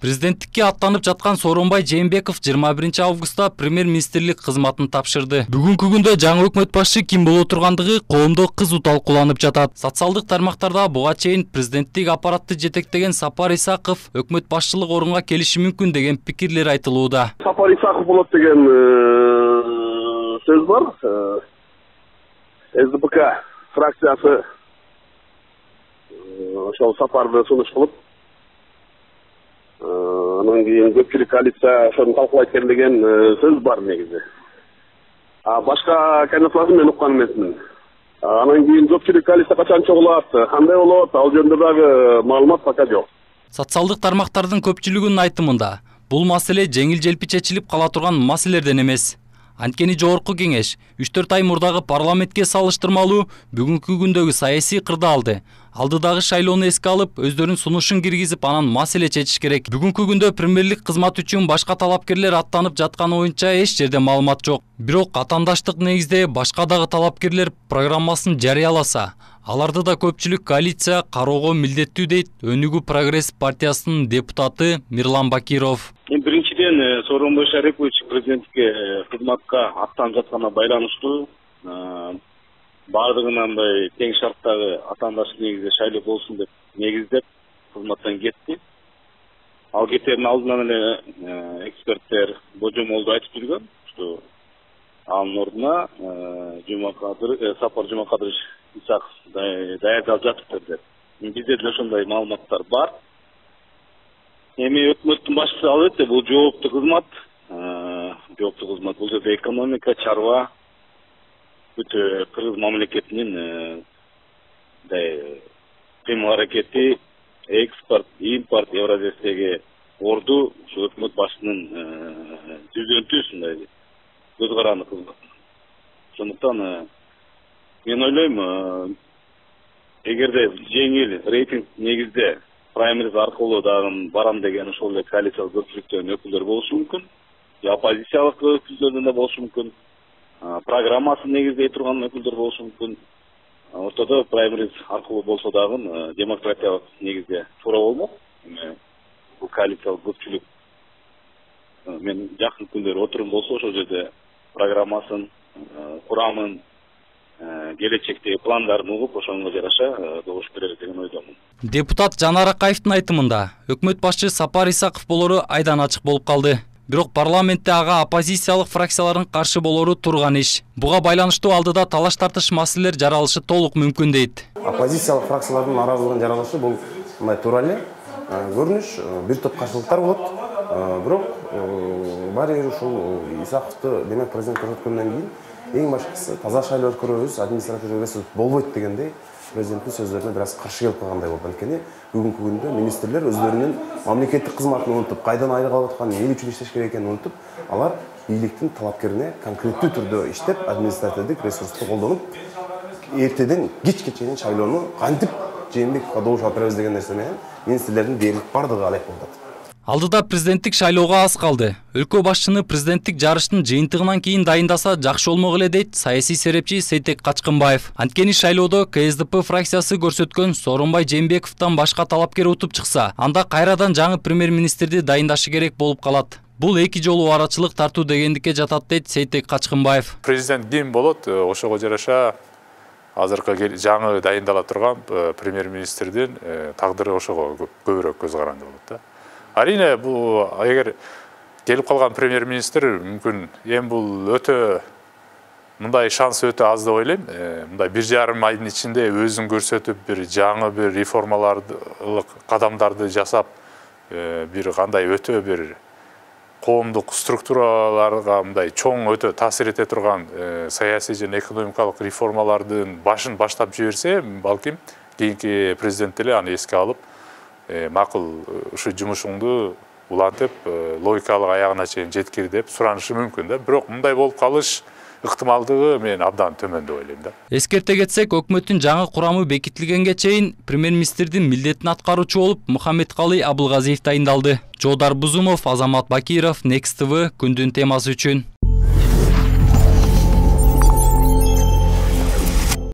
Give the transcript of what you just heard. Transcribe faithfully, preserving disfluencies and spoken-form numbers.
Президенттикке аттанып жаткан Сооронбай Жээнбеков жыйырма биринчи августта премьер-министрлик кызматын тапшырды. Бүгүнкү күндө жаңы өкмөт башчы ким боло тургандыгы коомдо кызуу талкууланып жатат. Социалдык тармактарда буга чейин президенттик аппаратты жетектеген Сапар Исаков өкмөт башчылык орунга келиши мүмкүн деген пикирлер айтылууда. Сапар Исаков болот деген сөз бар. эс дэ пэ ка фракциясы ошол сапарды сунуш кылып, анан кийин көпчүлүк коалиция ошону талкуулайт экен деген сөз бар негизи. А башка кандидатураны мен уккан эмесмин. Анан кийин көпчүлүк коалиция качан чогулат, кандай болот, ал жөнүндө дагы маалымат пока жок. Социалдык тармактардын көпчүлүгүнүн айтымында бул маселе жеңил-желпи чечилип кала турган маселелерден эмес. Анткени жогорку кеңеш үч төрт ай мурдагы парламентке салыштырмалуу бүгүнкү күндөгү саясий кырдаалды, алдыдагы шайлоону эске алып, өздөрүнүн сунушун киргизип, анан маселе чечиш керек. Бүгүнкү күндө премьерлик кызмат үчүн башка талапкерлер аттанып жатканы боюнча эч жерде маалымат жок. Бирок атаандаштык негизде башка дагы талапкерлер программасын жарыяласа, аларды да көпчүлүк коалиция кароого милдеттүү дейт Өнүгүү Прогресс партиясынын депутаты Мирлан Бакиров. Биринчиден, Сооронбай Шарипович президенттикке кызматка аттанып жатканына байланыштуу баардыгына мындай тең шарттагы атаандаштык негизде шайлоо болсун деп негиздеп кызматтан кетти. Ал кетердин алдынан эле эксперттер божомолду айтып жүргөн, что анын ордуна Жумакадыр, Сапар Жумакадырович Исаков даярдалып жатыптыр деп. Бизде деле ошондой маалыматтар бар. Эми өкмөттүн башчысы албетте бул жооптуу кызмат, жооптуу кызмат бул жерде экономика, чарба, өтө кыргыз мамлекетинин кыймыл аракети, экспорт, импорт Евразиядагы орду ушу өкмөт башчысынын жүзөнтүүсүндай көз каранды кызмат. Ошондуктан мен ойлойм, эгерде жеңил рейтинг негизде праймериз аркылуу дагы барам деген ошол эле коалициялык көпчүлүктөн өкүлдөр болушу мүмкүн, же оппозициялык өкүлдөрдөн да болушу мүмкүн, программасын негиздей турган өкүлдөр болушу мүмкүн. Ортодо праймериз аркылуу болсо дагы демократиялык негизде туура болмок. Бул коалициялык көпчүлүк мен жакын күндөрү отурум болсо ошол жерде программасын, курамын, келечектеги пландарын угуп, ошонго жараша добуш берер деген ойдомун. Депутат Жанар Акаевдин айтымында өкмөт башчы Сапар Исаков болору айдан ачык болуп калды. Бирок парламентте ага оппозициялык фракциялардын каршы болору турган иш. Буга байланыштуу алдыда талаш тартыш маселелер жаралышы толук мүмкүн дейт. Оппозициялык фракциялардын наразылыгын жаралышы бул мындай туура эле көрүнүш, бир топ каршылыктар болот. Бирок баары бир ушул Исаковду демек президент көрсөткөндөн кийин эң башкысы таза шайлоо өткөрөбүз, административдик ресурс болбойт дегендей президенттин сөздөрүнө бир аз каршы келип калгандай болду. Анткени бүгүнкү күндө министрлер өздөрүнүн мамлекеттик кызматын унутуп, кайдан айлык алып атканын, эмне үчүн иштеш керек экенин унутуп, алар бийликтин талапкерине конкреттүү түрдө иштеп, административдик ресурсту колдонуп, эртеден кечке чейин шайлоону кантип Жээнбековго добуш алып беребиз деген нерсе менен министрлердин дээрлик бардыгы алек болду. Алдыда президенттик шайлоого аз калды. Өлкө башчыны президенттик жарыштын жыйынтыгынан кийин дайындаса жакшы болмок эле дейт саясий серепчи Сейтек Качкынбаев. Анткени шайлоодо ка эс дэ пэ фракциясы көрсөткөн Сооронбай Жээнбековдон башка талапкер утуп чыкса, анда кайрадан жаңы премьер-министрди дайындашы керек болуп калат. Бул эки жолу арачылык тартуу дегендикке жатат дейт Сейтек Качкынбаев. Президент ким болот, ошого жараша азыркы жаңы дайындала турган премьер-министрдин тагдыры ошого көбүрөөк көз каранды болот да. Арине бул эгер келип калган премьер-министр мүмкүн эми бул өтө мындай шанс өтө аз деп ойлойм. Мындай бир жарым айдын ичинде өзүн көрсөтүп, бир жаңы бир реформалардык кадамдарды жасап, бир кандай өтө бир коомдук структураларга мындай чоң өтө таасир эте турган саясий жана экономикалык реформалардын башын баштап жиберсе, балким кийинки президент эле аны эске алып, макул ушу жумушуңду улантып, логикалык аягына чейин жеткир деп суранышы мүмкүн да. Бирок мындай болуп калыш ыктымалдыгы мен абдан төмөн деп ойлойм да. Эскерте кетсек, өкмөттүн жаңы курамы бекитилгенге чейин премьер-министрдин милдетин аткаруучу болуп Мухаммедкалый Абылгазиев дайындалды. Жоодар Бузумов, Азамат Бакиров, Next тэ вэ күндүн темасы үчүн.